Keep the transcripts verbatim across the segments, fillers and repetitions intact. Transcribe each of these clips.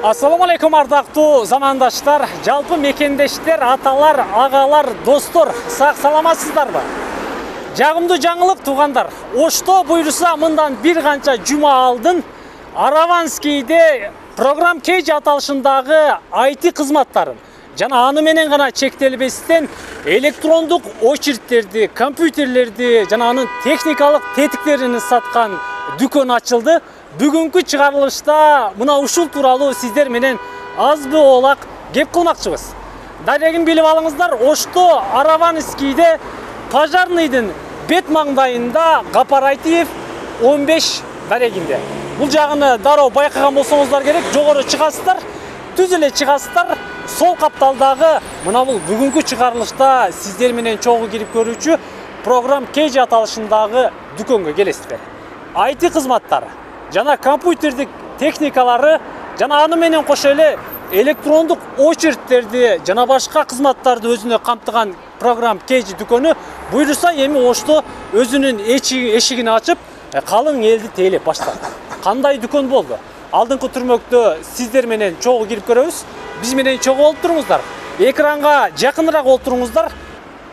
Ассаламу алейкум ардактуу замандаштар, жалпы мекендештер, аталар, агалар, достор, сак саламатсыздарбы? Жагымдуу жаңылык туугандар. Ошто буйруса мындан бир канча жума алдын Араванскийде программ Кей аталышындагы ай ти кызматтарын жана аны менен гана чектелбестен электрондук очередтерди, компьютерлерди жана анын техникалык тетиктерин саткан дүкөн ачылды. Бүгүнкү чыгарылышта мына ушул тууралуу сиздер менен азбы олак кеп кылмакчыбыз. Дарегин билип алыңыздар, Ошто Араванскийде пожарныйдын бет маңдайында Капарайтиев он беш дарегинде. Бул жагыны дароо байкаган болсоңуздар керек, жогору чыгасыздар, түз эле чыгасыздар. Сол капталдагы мына бул бүгүнкү чыгарылышта сиздер менен чогуу кирип көрүүчү программ Кей аталышындагы дүкөнгө келесиздер. ай ти кызматтары жана компьютердик техникалары жана аны менен кошо эле электрондук очередтерди жана башка кызматтарды өзүнө камтыган программ Кей дүкөнү буйруса эми Ошто өзүнүн эшигин ачып, калың элди тейлеп баштады. Кандай дүкөн болду? Алдыңкы түрмөктө сиздер менен чогуу кирип көрөбүз. Биз менен чогуу болуп туруңуздар. Экранга жакыныраак олтуруңуздар.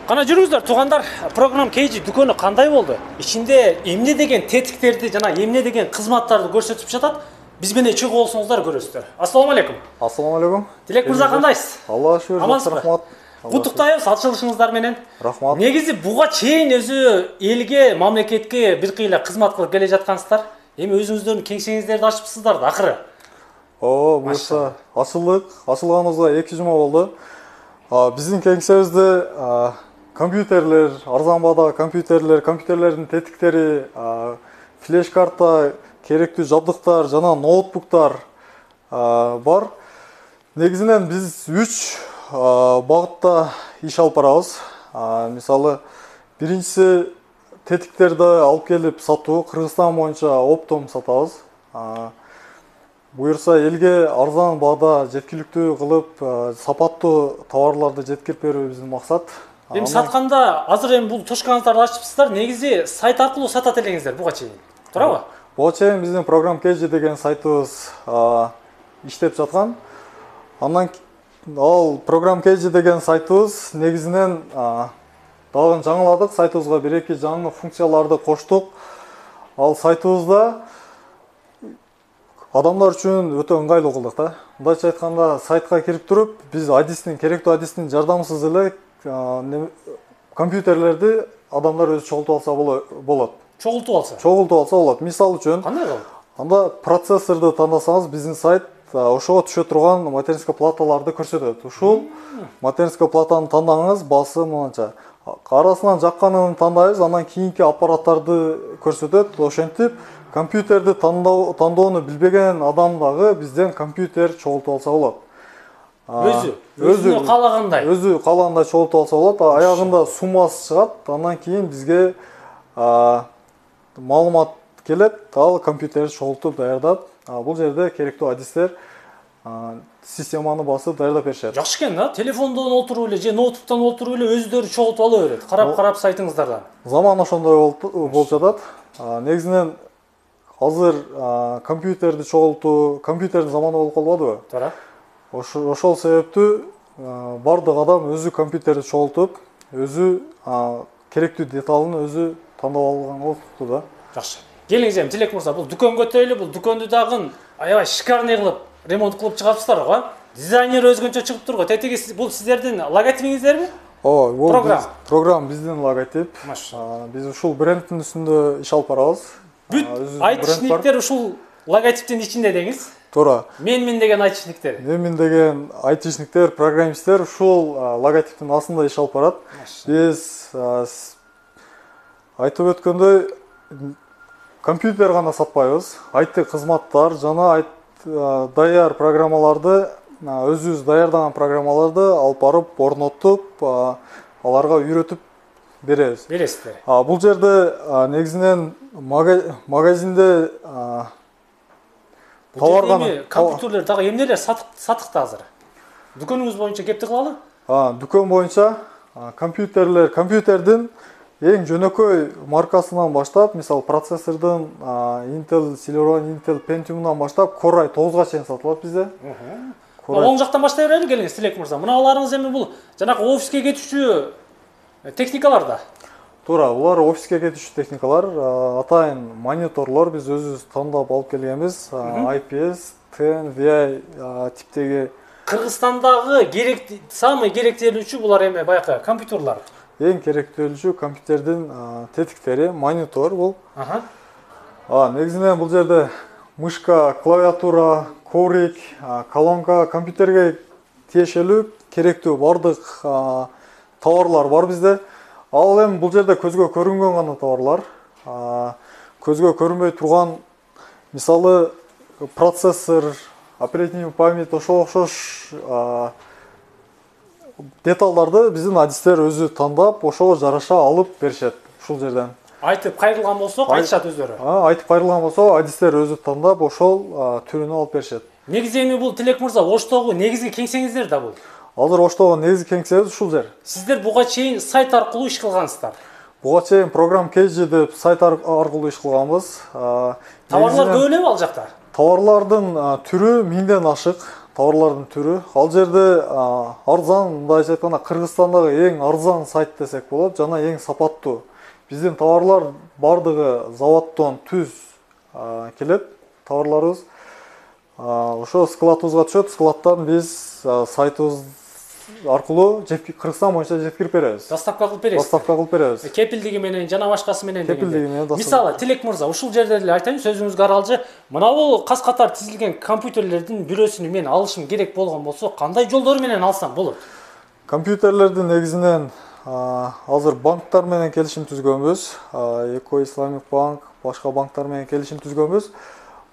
Кана жүрүңүздөр туугандар, программ Кей дүкөнү кандай болду? Ичинде эмне деген тетиктерди жана эмне деген кызматтарды көрсөтүп жатат? Биз менен чогуу болсоңуздар көрөсүздөр. Ассаламу алейкум. Ассаламу алейкум. Тилек мырза кандайсыз? Алла шүгүр, рахмат. Куттуктайбыз ачылышыңыздар менен. Рахмат. Негизи буга чейин өзү элге, мамлекетке бир кыйла кызмат кылып келе жаткансыздар. Эми өзүңүздөрдүн кеңсеңиздерди ачыпсыздар да акыры. О, буюрса ачылдык. Ачылганыбызга эки жума болду. Биздин кеңсебизде компьютерлер, арзан баада компьютерлер, компьютерлердин тетиктери, флеш карта, керектүү жабдыктар жана ноутбуктар бар. Негизинен биз үч багытта иш алып барабыз. Мисалы, биринчиси тетиктерди алып келип сатуу, Кыргызстан боюнча оптом сатабыз. Буюрса элге арзан баада жеткиликтүү кылып, сапаттуу товарларды жеткирип берүү биздин максат. Эми сатканда азыр эми бул точкаңыздарды ачыпсыздар, негизи сайт аркылуу сатат элеңиздер буга чейин. Туурабы? Буга чейин биздин программ Кей деген сайтыбыз иштеп жаткан. Андан ал программ Кей деген сайтыбыз негизинен дагы жаңыладык, сайтыбызга бир-эки жаңы функцияларды коштук. Ал сайтыбызда адамдар үчүн өтө ыңгайлуу кылдык да. Мындайча айтканда, сайтка кирип туруп, биз адистин, керектүү адистин жардамысыз эле компьютерлерди адамдар өзү чогултуп алса болот. Чогултуп алса? Чогултуп алса болот. Мисалы үчүн, кандай болот? Анда процессорду тандасаңыз, биздин сайт ошого түшө турган материнский платаларды көрсөтөт. Ушул материнский платаны тандаңыз, басы мынча. Арасынан жакканын тандайбыз, андан кийинки аппараттарды көрсөтөт. Ошентип, компьютерди тандоону билбеген адам дагы бизден компьютер чогултуп алса болот. Өзү, өзү каалагандай. Өзү каалагандай чогултуп алса болот. Аягында суммасы чыгат, андан кийин бизге маалымат келет, ал компьютерди чогултуп даярдап, бул жерде керектүү адистер системаны басып даярдап беришет. Жакшы экен да, телефондон отуруп эле же ноутбуктан отуруп эле өзүлөрү чогултуп ала берет. Карап-карап сайтыңыздардан. Заман ошондой болуп жатат. Негизинен азыр компьютерди чогултуу, компьютердин заманы болуп калбадыбы? Туура. Ошол себептүү бардык адам өзү компьютерди чогултуп, өзү керектүү деталын өзү тандап алган болупту да. Жакшы. Келиңиз эми Тилек мырза, бул дүкөнгө өтөлү, бул дүкөндү дагы аябай шикарный кылып ремонт кылып чыгарыпсыздар го. Дизайнер өзгөнчө чыгып тур го. Тетиги бул сиздердин логотипиңиздерби? Ооба, бул программ. Программ биздин логотип. Биз ушул брендтин үстүндө иш алып барабыз. Бүт айтышниктер ушул логотиптин ичинде деңиз. Туура. Менмин деген айтышниктер. Менмин деген айтышниктер, программисттер ушул логотиптин астында иш алып барат. Биз айтып өткөндөй компьютер гана сатпайбыз. ай ти кызматтар жана даяр программаларды, өзүбүз даярдаган программаларды алып барып, орнотуп, аларга үйрөтүп беребиз. Бересиздер. Бул жерде негизинен магазинде товарга компьютерлер дагы эмнелер сатыкта азыр? Дүкөнүңүз боюнча кепти кылалы? Дүкөн боюнча компьютерлер, компьютердин Эң жөнөкөй маркасынан баштап, мисалы процессордун Intel Celeron, Intel Pentium'дан баштап Core i тогузга чейин сатылат bizde. Оң жактан баштай берели келиңиз, Тилек мырза. Мыналарыңыз эми бул жанагы офиске кетүүчү техникалар да. Туура, булар офиске кетүүчү техникалар, атайын мониторлор биз өзүбүз тандап алып келгенбиз. I P S, ten, V I типтеги. Кыргызстандагы керек самый керектелүүчү булар эми баягы компьютерлар. Эң керектелүүчү компьютердин тетиктери, монитор бул. Ага. А, негизинен бул жерде мышка, клавиатура, коврик, колонка, компьютерге тиешелүү керектүү бардык товарлар бар бизде. Ал эми бул жерде көзгө көрүнгөн гана товарлар. Көзгө көрүнбөй турган, мисалы процессор, оперативный память, ошого окшош деталдарды биздин адистер өзү тандап, ошого жараша алып беришет ушул жерден. Айтып кайрылган болсок, айтышат өздөрү. Айтып кайрылган болсо, адистер өзү тандап, ошол түрүнө алып беришет. Негизи эми бул Тилек мырза, Оштогу негизги кеңсеңиздер да бул. Азыр Оштогу негизги кеңсебиз ушул жер. Сиздер буга чейин сайт аркылуу иш кылгансыздар. Буга чейин программ Кейджи деп сайт аркылуу иш кылганбыз. Товарлар көп элеби ал жакта? Товарлардын түрү миңден ашык. Товарлардын түрү. Ал жерде арзан, мындайча айтканда Кыргызстандагы эң арзан сайт десек болот, жана эң сапаттуу. Биздин товарлар бардыгы заводдон түз келет, товарларыбыз. Ошо складыбызга түшөт, складтан биз сайтыбыз аркылуу Кыргызстан боюнча жеткирип беребиз. Доставка кылып бересиз. Доставка кылып беребиз. Кепилдиги менен жана башкасы менен дегенде. Кепилдиги менен доставка. Мисалы, Тилек мырза, ушул жерде эле айтайын, сөзүңүзгө аралжы. Мына бул кас катар тизилген компьютерлердин бирөөсүн мен алышым керек болгон болсо, кандай жолдор менен алсам болот? Компьютерлердин негизинен азыр банктар менен келишим түзгөнбүз. Эко Исламик банк, башка банктар менен келишим түзгөнбүз.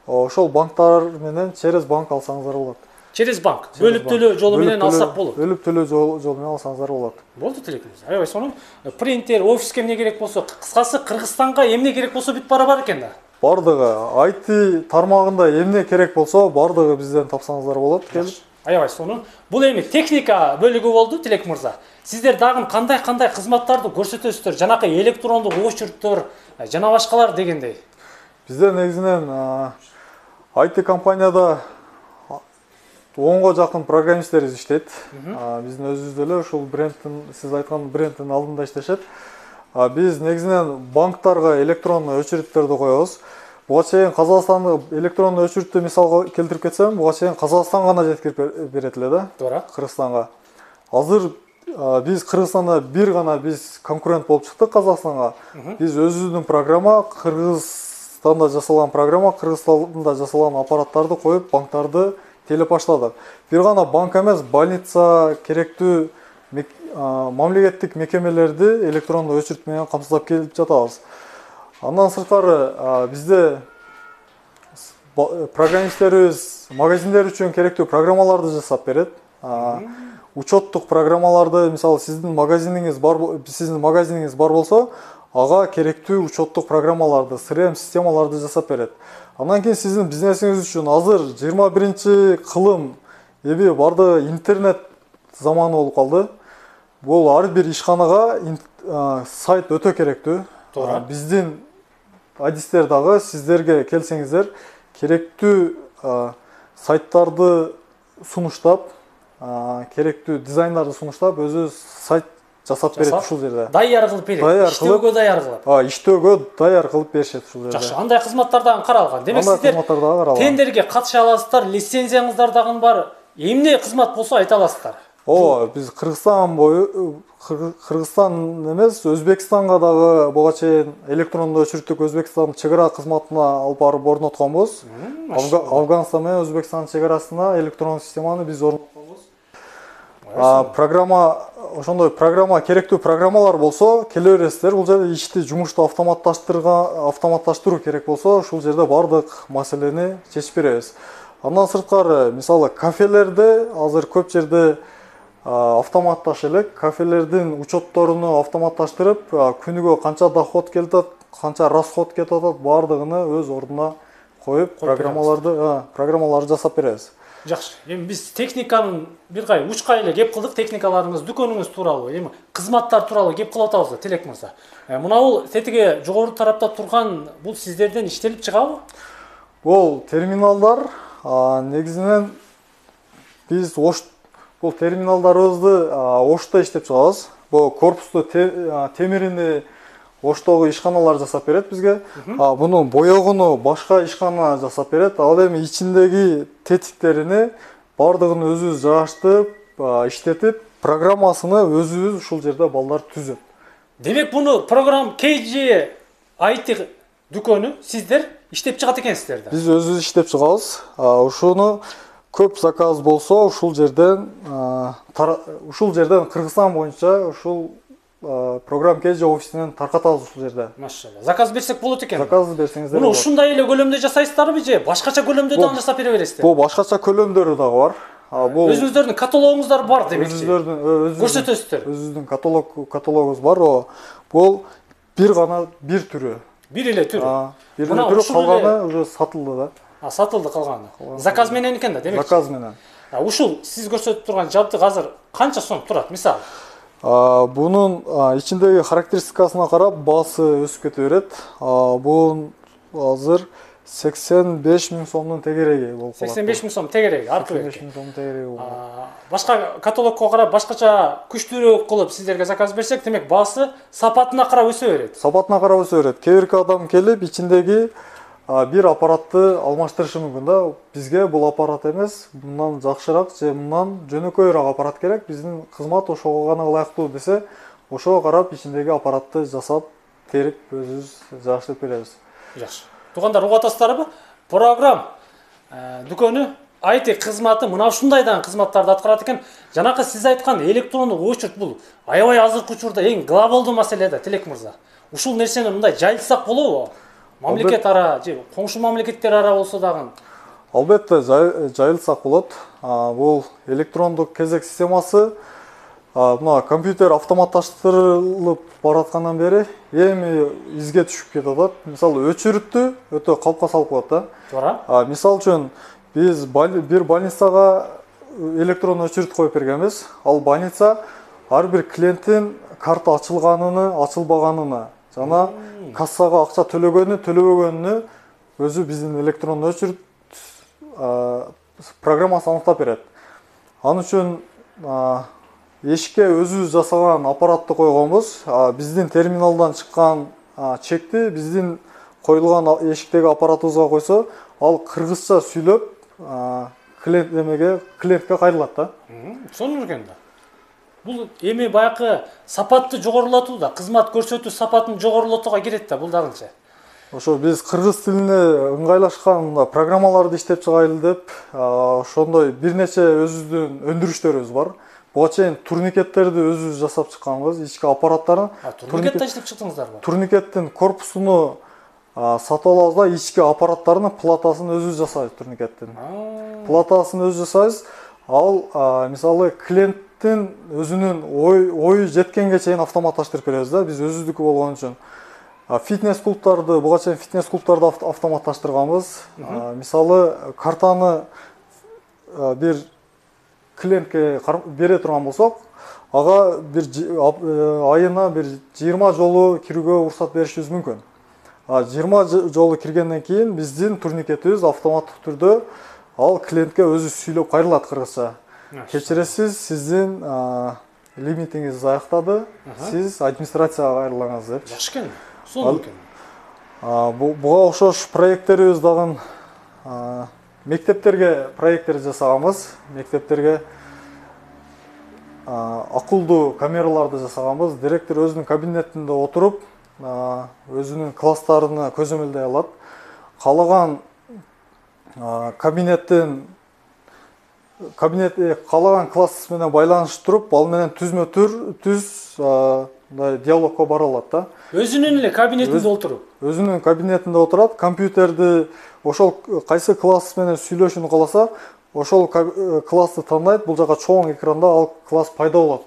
Ошол банктар менен через банк алсаңыздар болот. Через банк. Бөлүп төлөө жолу менен алсак болот. Бөлүп төлөө жолу менен алсаңыздар болот. Болду, Тилек мырза. Аябай сонун. Принтер, офиске эмне керек болсо, кыскасы Кыргызстанга эмне керек болсо бүт бара бар экен да. Бардыгы I T тармагында эмне керек болсо, бардыгы бизден тапсаңыздар болот. Аябай сонун. Бул эми техника бөлүгү болду, Тилек мырза. Сиздер дагы кандай-кандай кызматтарды көрсөтөсүздөр? Жанакы электрондук очерттор, жана башкалар дегендей. Бизде негизинен I T компанияда онго жакын программисттерибиз иштейт. Биздин өзүбүз деле ушул брендтин, сиз айткан брендтин алдында иштешет. Биз негизинен банктарга электрондуу очередтерди коебуз. Буга чейин Казакстандык электрондуу очередти мисалга келтирип кетсем, буга чейин Казакстан гана жеткирип берет эле да. Туура. Кыргызстанга. Азыр биз Кыргызстанда бир гана биз конкурент болуп чыктык Казакстанга. Биз өзүбүздүн программа, Кыргызстанда жасалган программа, Кыргызстанда жасалган аппараттарды коюп, банктарды телеп баштадык. Бир гана банк эмес, больница, керектүү мамлекеттик мекемелерди электрондуу очеред менен камсыздап келип жатабыз. Андан сырткары бизде программисттерибиз магазиндер үчүн керектүү программаларды жасап берет. Учеттук программаларды, мисалы сиздин магазиниңиз бар, сиздин магазиниңиз бар болсо, ага керектүү учеттук программаларды, си эр эм системаларды жасап берет. Андан кийин сиздин бизнесиңиз үчүн азыр жыйырма биринчи кылым эби барды интернет заманы болуп калды. Бул ар бир ишканага сайт өтө керектүү. Биздин адистер дагы сиздерге келсеңиздер керектүү сайттарды сунуштап, керектүү дизайндарды сунуштап, өзү сайт жасап берет ушул жерде. Даяр кылып берет. Иштөөгө даяр кылат. А, иштөөгө даяр кылып беришет ушул жерде. Жакшы, андай кызматтардан каралган. Демек сиздер тендерге катыша аласыздар, лицензияңыздар дагы бар. Эмне кызмат болсо айта аласыздар. О, биз Кыргызстан бою, Кыргызстан эмес, Өзбекстанга дагы буга чейин электрондуу очередтик Өзбекстан чек ара кызматына алып барып орнотконбуз. Афганстан менен Өзбекстан чек арасына электрондук системаны биз орнотконбуз. Программа, ошондой программа, керектүү программалар болсо, келе бересиздер. Бул жерде ишти, жумушту автоматташтырган, автоматташтыруу керек болсо, ушул жерде бардык маселени чечип беребиз. Андан сырткары, мисалы, кафелерде азыр көп жерде автоматташ элек, кафелердин учетторуну автоматташтырып, күнүгө канча доход келет, канча расход кетип атат, бардыгыны өз ордуна коюп программаларды программаларды жасап беребиз. Жакшы. Эми биз техниканын бир кай учкай эле кеп кылдык, техникаларыңыз, дүкөнүңүз тууралуу, эми кызматтар тууралуу кеп кылып атабыз да, Тилек мырза. Мына бул тетиги жогору тарапта турган бул сиздерден иштелип чыгабы? Бул терминалдар негизинен биз Ош бул терминалдарыбызды Ошто иштеп чыгабыз. Бул корпусту темирини Оштогу ишканалар жасап берет бизге. Мунун боёгуну башка ишкана жасап берет. Ал эми ичиндеги тетиктерини бардыгын өзүбүз жааштырып, иштетип, программасыны өзүбүз ушул жерде балдар түзөт. Демек буну программ кей джи ай ти дүкөнү сиздер иштеп чыгат экенсиздер да? Биз өзүбүз иштеп чыгабыз. Ушуну көп заказ болсо ушул жерден ушул жерден Кыргызстан боюнча ушул программ кей джи офисинен таркатабыз ушул жерде. Машалла. Заказ берсек болот экен. Заказ берсеңиздер. Муну ушундай эле көлөмдө жасайсыздарбы же башкача көлөмдө да жасап бере бересиздер? Бул башкача көлөмдөрү дагы бар. Бул өзүңүздөрдүн каталогуңуздар бар демекчи. Өзүңүздөрдүн көрсөтөсүздөр. Өзүбүздүн каталог каталогубуз бар. Бул бир гана бир түрү. Бир эле түрү. Бир эле түрү, калганы уже сатылды да. А, сатылды калганы. Заказ менен экен да, демекчи. Заказ менен. Ушул сиз көрсөтүп турган жабдык азыр канча сом турат, мисалы? Бунун ичиндеги характеристикасына карап баасы өсүп кете берет. Бул азыр сексен беш миң сомдун тегереги болуп калат. сексен беш миң сом тегереги артып сексен беш миң сомдун тегереги болот. Башка каталогко карап башкача күчтүүрөөк кылып сиздерге заказ берсек, демек баасы сапатына карап өсө берет. Сапатына карап өсө берет. Кээ бирки адам келип ичиндеги бир аппаратты алмаштырышы мүмкүн да. Бизге бул аппарат эмес, мындан жакшыраак же мындан жөнөкөйрөөк аппарат керек. Биздин кызмат ошого гана ылайыктуу десе, ошого карап ичиндеги аппаратты жасап, терип өзүбүз жааштырып беребиз. Жакшы. Туугандар, угуп атасыздарбы? Программ дүкөнү ай ти кызматы мына ушундайдан кызматтарды аткарат экен. Жанакы сиз айткан электрондук очерт бул аябай азыркы учурда эң глобалдуу маселе да, Тилек мырза. Ушул нерсени мындай жайылтсак болобу? Мамлекет ара же коңшу мамлекеттер ара болсо дагы. Албетте жайылтсак болот. Бул электрондук кезек системасы мына компьютер автоматташтырылып бараткандан бери эми изге түшүп кетип атат. Мисалы, өчүрүттү өтө калпка салып коет да. Туура. Мисалы үчүн биз бир больницага электрон өчүрүт коюп бергенбиз. Ал больница ар бир клиенттин карта ачылганына, ачылбаганына жана кассага акча төлөгөнү, төлөбөгөнүнү өзү биздин электрон өчүрүт программасы аныктап берет. Ал үчүн эшикке өзүбүз жасаган аппаратты койгонбуз. Биздин терминалдан чыккан чекти биздин коюлган эшиктеги аппаратыбызга койсо, ал кыргызча сүйлөп клиент эмеге, клиентке кайрылат да. Сонун экен да. Бул эми баякы сапатты жогорулатуу да, кызмат көрсөтүү сапатын жогорулатууга кирет да, бул дагычы. Ошо биз кыргыз тилине ыңгайлашкан программаларды иштеп чыгайлы деп, ошондой бир нече өзүбүздүн өндүрүштөрүбүз бар. Буга чейин турникеттерди өзүбүз жасап чыкканбыз, ички аппараттарын. Турникет да иштеп чыктыңыздарбы? Турникеттин корпусуну сатып алабыз да, ички аппараттарынын платасын өзүбүз жасайбыз турникеттин. Платасын өзүбүз жасайбыз. Ал мисалы клиенттин өзүнүн ой ою жеткенге чейин автоматташтырып беребиз да, биз өзүбүздүкү болгон үчүн. Фитнес клубтарды, буга чейин фитнес клубтарды автоматташтырганбыз. Мисалы, картаны бир клиентке бере турган болсок, ага бир айына бир жыйырма жолу кирүүгө уруксат беришибиз мүмкүн. жыйырма жолу киргенден кийин биздин турникетибиз автоматтык түрдө ал клиентке өзү сүйлөп кайрылат кыргызча. Кечиресиз, сиздин лимитиңиз аяктады, сиз администрацияга кайрылыңыз деп. Жакшы экен. Сонун экен. Буга окшош проекттерибиз дагы мектептерге проекттер жасаганбыз. Мектептерге акылдуу камераларды жасаганбыз. Директор өзүнүн кабинетинде отуруп, өзүнүн класстарына көзөмөлдөй алат. Каалаган кабинеттин кабинет каалаган класс менен байланыштырып, ал менен түзмө түз диалогко бара алат да. Өзүнүн эле кабинетинде отуруп. Өзүнүн кабинетинде отурат, компьютерди ошол кайсы класс менен сүйлөшүүнү кааласа, ошол классты тандайт, бул жака чоң экранда ал класс пайда болот.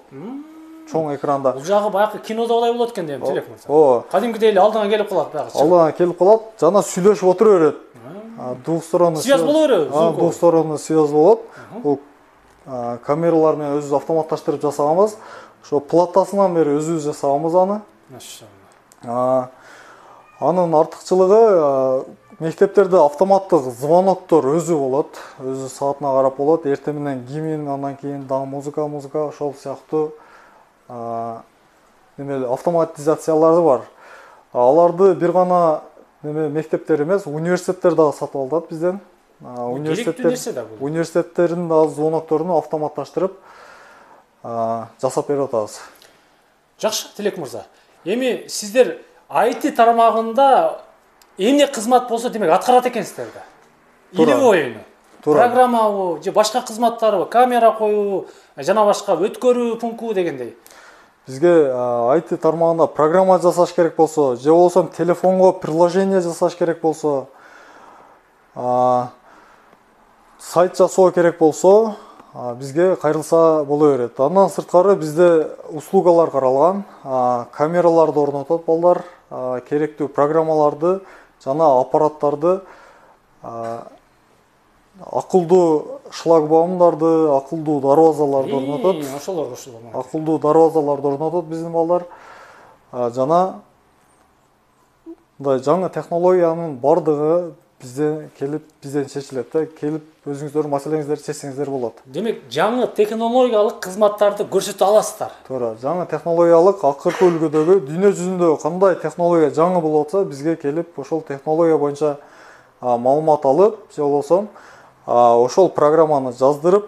Чоң экранда. Бул жагы баягы кинодогудай болот экен дейм, Тилек мырза. Ооба. Кадимкидей эле алдыңа келип калат баягы. Алдыңа келип калат, жана сүйлөшүп отура берет. двухсторонний связь боло береби? Двухсторонний связь болот. Бул камералар менен өзүбүз автоматташтырып жасаганбыз. Ошо платасынан бери өзүбүз жасаганбыз аны. Машалла. Анын артыкчылыгы мектептерде автоматтык звоноктор өзү болот. Өзү саатына карап болот. Эртең менен гимн, андан кийин дагы музыка, музыка ошол сыяктуу неме автоматизациялары бар. Аларды бир гана неме мектептер эмес, университеттер дагы сатып алат бизден. Университеттер университеттердин дагы звонокторун автоматташтырып жасап берип атабыз. Жакшы, Тилек мырза. Эми сиздер ай ти тармагында эмне кызмат болсо демек аткарат экенсиздер да. Илиби оюну. Программабы же башка кызматтарбы, камера коюу, жана башка өткөрүү пункту дегендей. Бизге ай ти тармагында программа жасаш керек болсо, же болбосо телефонго приложение жасаш керек болсо, сайт жасоо керек болсо, бизге кайрылса боло берет. Андан сырткары бизде услугалар каралган, камераларды орнотот балдар, керектүү программаларды жана аппараттарды, акылдуу шлагбаумдарды, акылдуу дарбазаларды орнотот. Ошолор ошол. Акылдуу дарбазаларды орнотот биздин балдар. Жана мындай жаңы технологиянын бардыгы бизден келип, бизден чечилет да. Келип өзүңүздөр маселеңиздерди чечсеңиздер болот. Демек, жаңы технологиялык кызматтарды көрсөтө аласыздар. Туура, жаңы технологиялык акыркы үлгүдөгү дүйнө жүзүндө кандай технология жаңы болуп атса, бизге келип ошол технология боюнча маалымат алып, же болбосо ошол программаны жаздырып,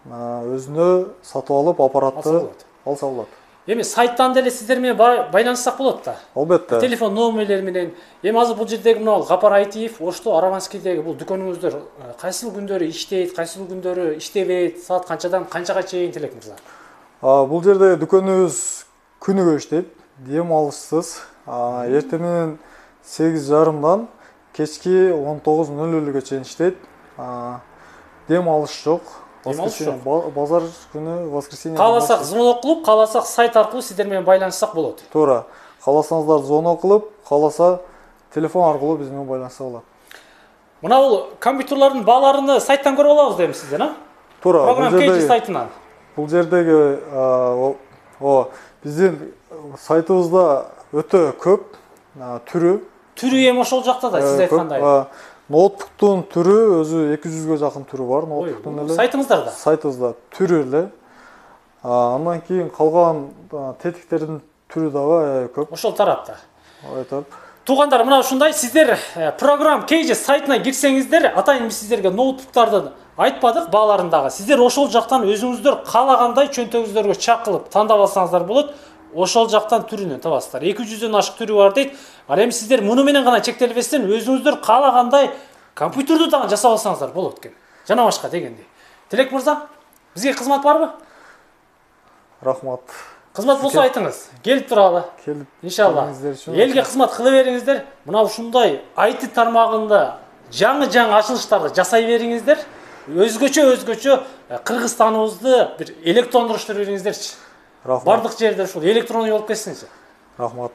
өзүнө сатып алып, аппаратты алса болот. Эми сайттан деле сиздер менен байланыссак болот да. Албетте. Телефон номерлери менен. Эми азыр бул жердеги мына Гапар Айтиев, Ошто Араванскийдеги бул дүкөнүңүздөр кайсыл күндөрү иштейт, кайсыл күндөрү иштебейт, саат канчадан канчага чейин, Тилек мырза? Бул жерде дүкөнүбүз күнүгө иштейт, дем алышсыз. Эртең менен сегиз жарымдан кечки он тогуз ноль нөлгө чейин иштейт. Дем алыш жок. Базар күнү воскресенье. Кааласак звонок кылып, кааласак сайт аркылуу сиздер менен байланыссак болот. Туура. Кааласаңыздар звонок кылып, кааласа телефон аркылуу биз менен байланышса болот. Мына бул компьютерлордун бааларын сайттан көрүп алабыз дейм сиздер, а? Туура. Программа Кейджи сайтынан. Бул жердеги о биздин сайтыбызда өтө көп түрү. Түрү эми ошол жакта да сиз айткандай. Ноутбуктун түрү өзү эки жүзгө жакын түрү бар. Ноутбуктун эле. Сайтыңыздарда? Сайтыбызда түрү эле. Андан кийин калган тетиктердин түрү дагы көп. Ошол тарапта. Айтып. Туугандар, мына ушундай сиздер программа Кейджи сайтына кирсеңиздер, атайын биз сиздерге ноутбуктарды айтпадык бааларындагы. Сиздер ошол жактан өзүңүздөр каалагандай чөнтөгүңүздөргө чак кылып тандап алсаңыздар болот. Ошол жактан түрүнөн табасыздар. эки жүздөн ашык түрү бар дейт. Ал эми сиздер муну менен гана чектелбестен өзүңүздөр каалагандай компьютерди дагы жасап алсаңыздар болот экен. Жана башка дегендей. Тилек мырза, бизге кызмат барбы? Рахмат. Кызмат болсо айтыңыз. Келип туралы. Келип. Иншалла. Элге кызмат кыла бериңиздер. Мына ушундай ай ти тармагында жаңы-жаңы ачылыштарды жасай бериңиздер. Өзгөчө өзгөчө Кыргызстаныбызды бир электрондуруштуруп бериңиздерчи. Рахмат. Бардык жерде ушул электронный болуп кетсинчи. Рахмат.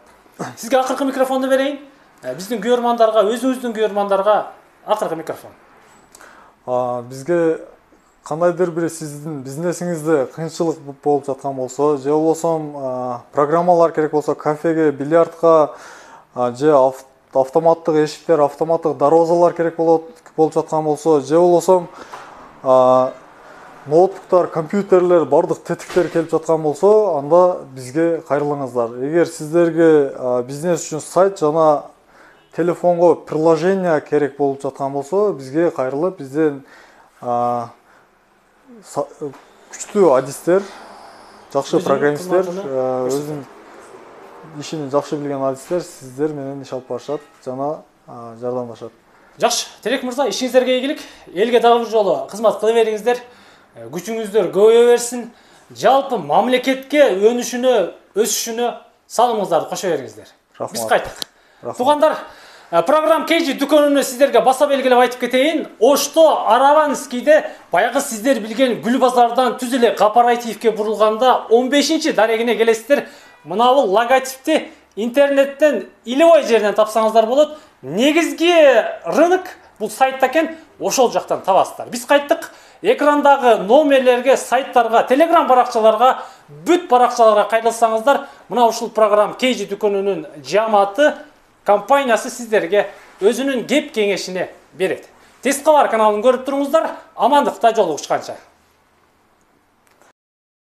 Сизге акыркы микрофонду берейин. Биздин көрөрмандарга, өзүңүздүн көрөрмандарга акыркы микрофон. Бизге кандайдыр бир сиздин бизнесиңизде кыйынчылык болуп жаткан болсо, же болбосо программалар керек болсо, кафеге, бильярдка, же автоматтык эшиктер, автоматтык дарбазалар керек болуп жаткан болсо, же болбосо ноутбуктар, компьютерлер, бардык тетиктер келип жаткан болсо, анда бизге кайрылыңыздар. Эгер сиздерге бизнес үчүн сайт жана телефонго приложение керек болуп жаткан болсо, бизге кайрылып, бизден күчтүү адистер, жакшы программисттер, өзүнүн ишин жакшы билген адистер сиздер менен иш алып барышат жана жардамдашат. Жакшы, Тилек мырза, ишиңиздерге ийгилик. Элге дагы бир жолу кызмат кыла бериңиздер. Күчүңүздөр көбөйө берсин. Жалпы мамлекетке өнүшүнө, өсүшүнө салымыңыздарды кошо бериңиздер. Биз кайттык. Туугандар, программа Кейджи дүкөнүнө сиздерге баса белгилеп айтып кетейин. Ошто Араванскийде баягы сиздер билген Гүл базардан түз эле Гапар Айтиевке бурулганда он бешинчи дарегине келесиздер. Мына бул логотипти интернеттен илебой жерден тапсаңыздар болот. Негизги рынок бул сайтта экен, ошол жактан табасыздар. Биз кайттык. Экрандагы номерлерге, сайттарга, телеграм баракчаларга, бүт баракчаларга кайрылсаңыздар, мына ушул программа Кейжи дүкөнүнүн жамааты компаниясы сиздерге өзүнүн кеп кеңешини берет. Тез кабар каналын көрүп туруңуздар. Амандыкта жолугушканча.